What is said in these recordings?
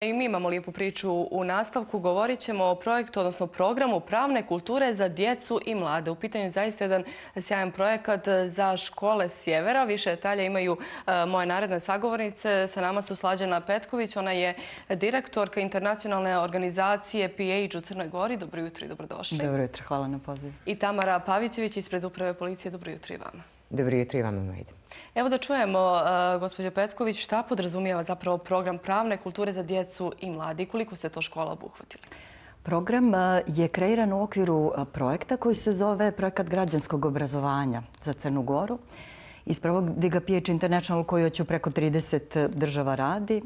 I mi imamo lijepu priču u nastavku. Govorit ćemo o projektu, odnosno programu pravne kulture za djecu i mlade. U pitanju je zaista jedan sjajan projekat za škole sjevera. Više detalja imaju moje naredne sagovornice. Sa nama su Slađana Petković. Ona je direktorka internacionalne organizacije PH u Crnoj Gori. Dobro jutro i dobrodošli. Dobro jutro, hvala na pozivu. I Tamara Pavićević ispred Uprave policije. Dobro jutro i vama. Dobro jutro i vama, Majde. Evo da čujemo, gospođo Petković, šta podrazumijeva zapravo program pravne kulture za djecu i mlade i koliko ste to škola obuhvatili? Program je kreiran u okviru projekta koji se zove Projekat građanskog obrazovanja za Crnu Goru. Isprovodi ga PH International koji već u preko 30 država radi.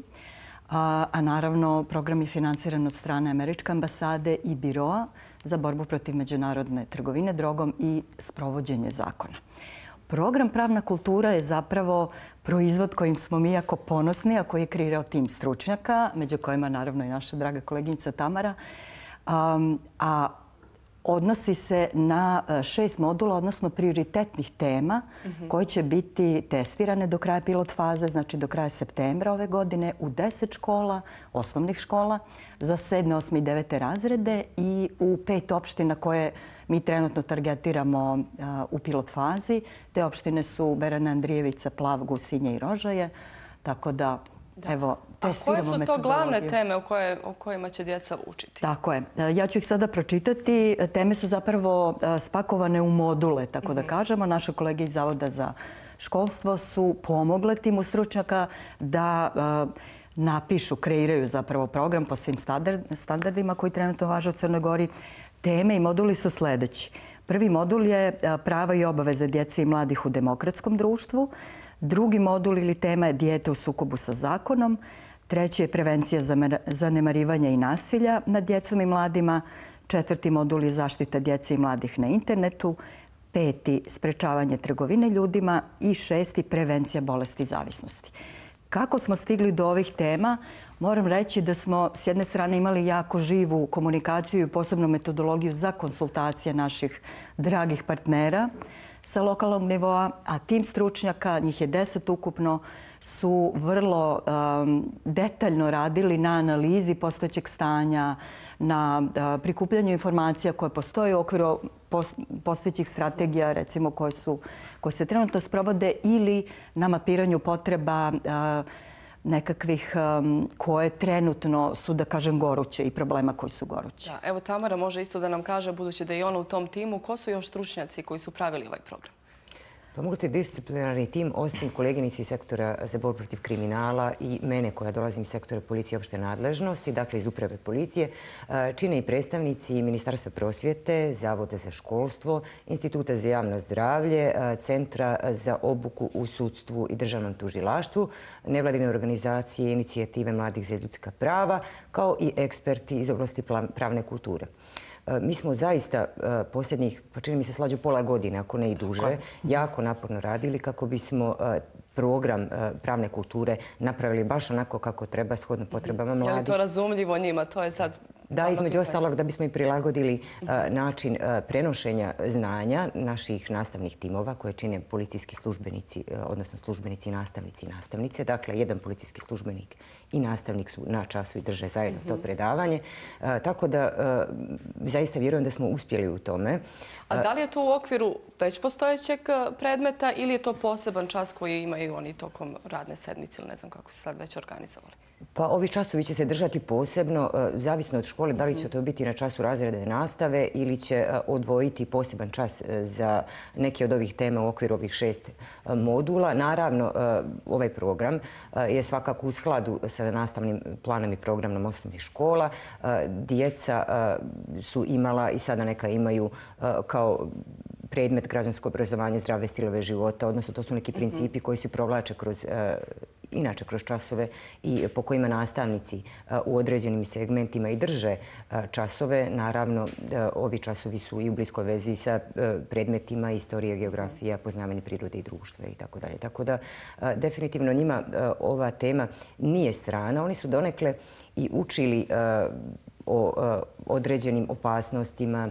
A naravno program je financiran od strane Američke ambasade i Biroa za borbu protiv međunarodne trgovine drogom i sprovođenje zakona. Program Pravna kultura je zapravo proizvod kojim smo mi jako ponosni, a koji je kreirao tim stručnjaka, među kojima naravno i naša draga koleginica Tamara, a odnosi se na 6 modula, odnosno prioritetnih tema koje će biti testirane do kraja pilot faze, znači do kraja septembra ove godine u 10 škola, osnovnih škola, za 7., 8. i 9. razrede i u 5 opština koje mi trenutno targetiramo u pilot fazi. Te opštine su Berana, Andrijevica, Plav, Gusinje i Rožaje. Tako da, evo, testiramo metodologiju. A koje su to glavne teme o kojima će djeca učiti? Tako je. Ja ću ih sada pročitati. Teme su zapravo spakovane u module, tako da kažemo. Naše kolege iz Zavoda za školstvo su pomogle timu stručnjaka da napišu, kreiraju zapravo program po svim standardima koji trenutno važe u Crnoj Gori. Teme i moduli su sljedeći. Prvi modul je prava i obaveze djece i mladih u demokratskom društvu. Drugi modul ili tema je dijete u sukobu sa zakonom. Treći je prevencija zanemarivanja i nasilja nad djecom i mladima. Četvrti modul je zaštita djece i mladih na internetu. Peti, sprečavanje trgovine ljudima. I šesti, prevencija bolesti i zavisnosti. Kako smo stigli do ovih tema? Moram reći da smo s jedne strane imali jako živu komunikaciju i posebnu metodologiju za konsultacije naših dragih partnera sa lokalnog nivoa, a tim stručnjaka, njih je 10 ukupno, su vrlo detaljno radili na analizi postojećeg stanja, na prikupljanju informacija koje postoje u okviru postojećih strategija, recimo koje se trenutno sprovode, ili na mapiranju potreba nekakvih koje trenutno su, da kažem, goruće i problema koji su gorući. Da, evo Tamara može isto da nam kaže, budući da je ona u tom timu, ko su još stručnjaci koji su pravili ovaj program? Pa multidisciplinarni tim, osim koleginici iz sektora za borbu protiv kriminala i mene koja dolazim iz sektora policije i opšte nadležnosti, dakle iz Uprave policije, čine i predstavnici Ministarstva prosvjete, Zavoda za školstvo, Instituta za javno zdravlje, Centra za obuku u sudstvu i državnom tužilaštvu, nevladine organizacije i inicijative mladih za ljudska prava, kao i eksperti iz oblasti pravne kulture. Mi smo zaista posljednjih, pa čini mi se Slađu, pola godine, ako ne i duže, jako naporno radili kako bismo program pravne kulture napravili baš onako kako treba, shodno potrebama mladih. Je li to razumljivo njima? To je sad... Da, između ostalog da bismo i prilagodili način prenošenja znanja naših nastavnih timova koje čine policijski službenici, odnosno službenici, nastavnici i nastavnice. Dakle, jedan policijski službenik i nastavnik su na času i drže zajedno to predavanje. Tako da zaista vjerujem da smo uspjeli u tome. A da li je to u okviru već postojećeg predmeta ili je to poseban čas koji imaju oni tokom radne sedmice ili ne znam kako se sad već organizovali? Pa ovi časovi će se držati posebno, zavisno od škole, da li će to biti na času razredne nastave ili će odvojiti poseban čas za neke od ovih tema u okviru ovih 6 modula. Naravno, ovaj program je svakako u skladu sa nastavnim planom i programom osnovnih škola. Djeca su imala i sada neka imaju kao predmet građansko obrazovanje, zdrave stilove života, odnosno to su neki principi koji se provlače inače kroz časove i po kojima nastavnici u određenim segmentima i drže časove. Naravno, ovi časovi su i u bliskoj vezi sa predmetima istorije, geografija, poznavanje prirode i društva itd. Tako da, definitivno njima ova tema nije strana. Oni su donekle i učili o određenim opasnostima,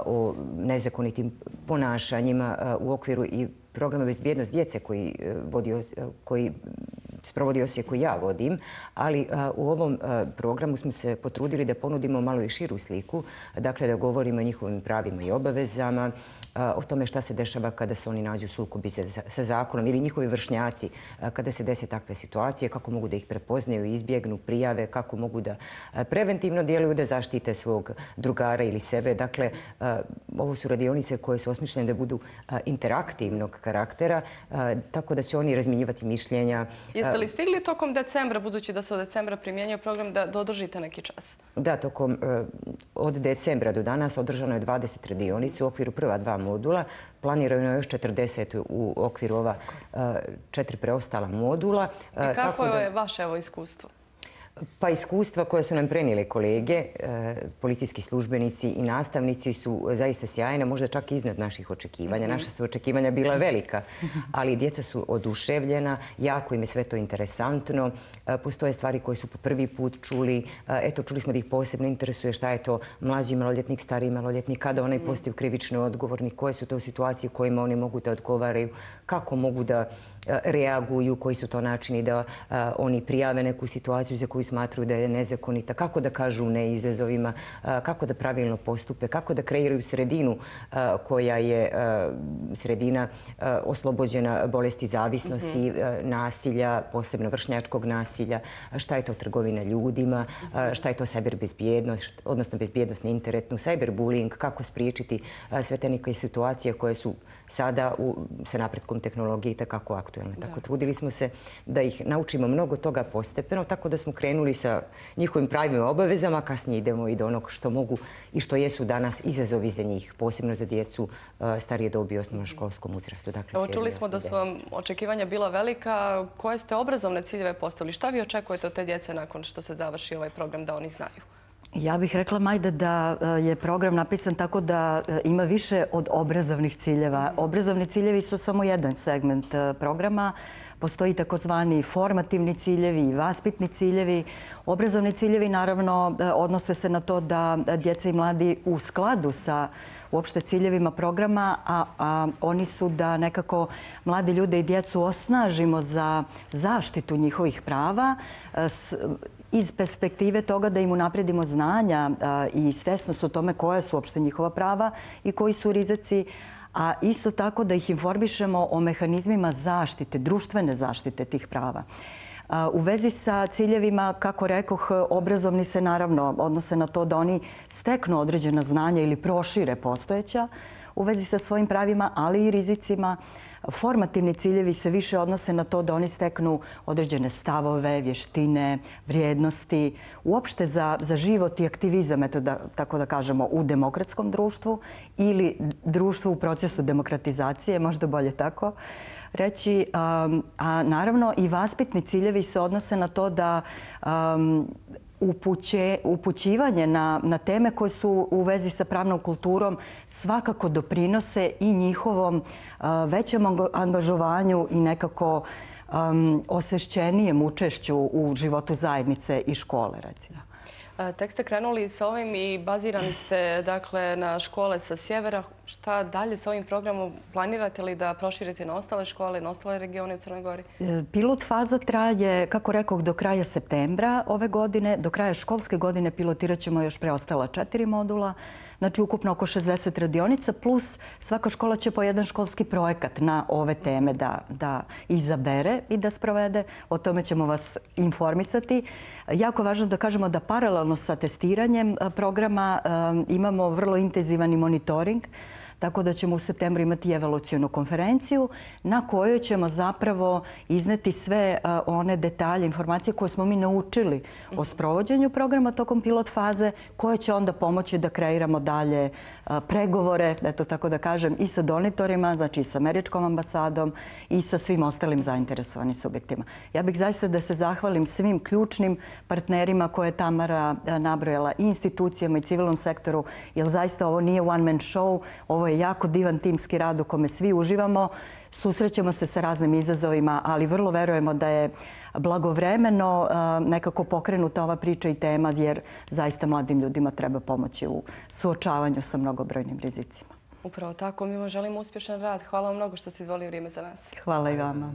o nezakonitim ponašanjima u okviru i programa Bezbjednost djece koji sprovodi Osijek koji ja vodim, ali u ovom programu smo se potrudili da ponudimo malo i širu sliku, dakle da govorimo o njihovim pravima i obavezama, o tome šta se dešava kada se oni nađu u sukobi sa zakonom ili njihovi vršnjaci kada se dese takve situacije, kako mogu da ih prepoznaju, izbjegnu, prijave, kako mogu da preventivno djeluju da zaštite svog drugara ili sebe. Dakle, ovo su radionice koje su osmišljene da budu interaktivnog karaktera, tako da će oni razmjenjivati mišljenja. Jeste li stigli tokom decembra, budući da se od decembra primjenjuje program, da održite neki čas? Da, od decembra do danas održano je 20 radionica u okviru prva 2 modula. Planirano je još 40 u okviru ova 4 preostala modula. I kako je vaše iskustvo? Pa iskustva koje su nam prenijeli kolege, policijski službenici i nastavnici su zaista sjajna, možda čak i iznad naših očekivanja. Naša su očekivanja bila velika, ali djeca su oduševljena, jako im je sve to interesantno. Postoje stvari koje su po prvi put čuli. Eto, čuli smo da ih posebno interesuje šta je to mlađi maloljetnik, stariji maloljetnik, kada onaj postaju krivično odgovorni, koje su to situacije u kojima oni mogu da odgovaraju, kako mogu da reaguju, koji su to načini da oni prijave neku situaciju za koju smatruju da je nezakonita, kako da kažu ne izazovima, kako da pravilno postupe, kako da kreiraju sredinu koja je sredina oslobođena bolesti zavisnosti, nasilja, posebno vršnjačkog nasilja, šta je to trgovina ljudima, šta je to cyberbezbjednost, odnosno bezbjednost na internetu, cyberbullying, kako spriječiti sve te neke situacije koje su sada sa napretkom tehnologije itekako aktualne. Tako trudili smo se da ih naučimo mnogo toga postepeno, tako da smo krenuli sa njihovim pravima i obavezama, kasnije idemo i do onog što mogu i što jesu danas izazovi za njih, posebno za djecu starije dobi u osnovnoškolskom uzrastu. Čuli smo da su vam očekivanja bila velika. Koje ste obrazovne ciljeve postavili? Šta vi očekujete od te djece nakon što se završi ovaj program da oni znaju? Ja bih rekla, Majda, da je program napisan tako da ima više od obrazovnih ciljeva. Obrazovni ciljevi su samo jedan segment programa. Postoji takozvani formativni ciljevi i vaspitni ciljevi. Obrazovni ciljevi naravno odnose se na to da djeca i mladi u skladu sa uopšte ciljevima programa, a oni su da nekako mlade ljude i djecu osnažimo za zaštitu njihovih prava iz perspektive toga da im unaprijedimo znanja i svjesnost o tome koja su uopšte njihova prava i koji su rizici, a isto tako da ih informišemo o mehanizmima zaštite, društvene zaštite tih prava. U vezi sa ciljevima, kako rekoh, obrazovni se naravno odnose na to da oni steknu određena znanja ili prošire postojeća u vezi sa svojim pravima, ali i rizicima. Formativni ciljevi se više odnose na to da oni steknu određene stavove, vještine, vrijednosti, uopšte za život i aktivizam, tako da kažemo, u demokratskom društvu ili društvu u procesu demokratizacije, možda bolje tako reći. A naravno i vaspitni ciljevi se odnose na to da upućivanje na teme koje su u vezi sa pravnom kulturom svakako doprinose i njihovom većem angažovanju i nekako osvešćenijem učešću u životu zajednice i škole, recimo. Tek ste krenuli sa ovim i bazirani ste na škole sa sjevera. Šta dalje sa ovim programom? Planirate li da proširite na ostale škole, na ostale regione u Crnoj Gori? Pilot faza traje, kako rekoh, do kraja septembra ove godine. Do kraja školske godine pilotirat ćemo još preostala 4 modula. Znači, ukupno oko 60 radionica, plus svaka škola će po jedan školski projekat na ove teme da izabere i da sprovede. O tome ćemo vas informisati. Jako važno da kažemo da paralelno sa testiranjem programa imamo vrlo intenzivan monitoring, tako da ćemo u septembru imati evaluacionu konferenciju na kojoj ćemo zapravo izneti sve one detalje, informacije koje smo mi naučili o sprovođenju programa tokom pilot faze, koje će onda pomoći da kreiramo dalje pregovore, eto tako da kažem, i sa donatorima, znači i sa američkom ambasadom i sa svim ostalim zainteresovanim subjektima. Ja bih zaista da se zahvalim svim ključnim partnerima koje je Tamara nabrojala, i institucijama i civilnom sektoru, jer zaista ovo nije one man show, ovo je jako divan timski rad u kome svi uživamo. Susrećemo se sa raznim izazovima, ali vrlo verujemo da je blagovremeno nekako pokrenuta ova priča i tema, jer zaista mladim ljudima treba pomoći u suočavanju sa mnogobrojnim rizicima. Upravo tako. Mi vam želimo uspješan rad. Hvala vam mnogo što ste izvolili vrijeme za nas. Hvala i vama.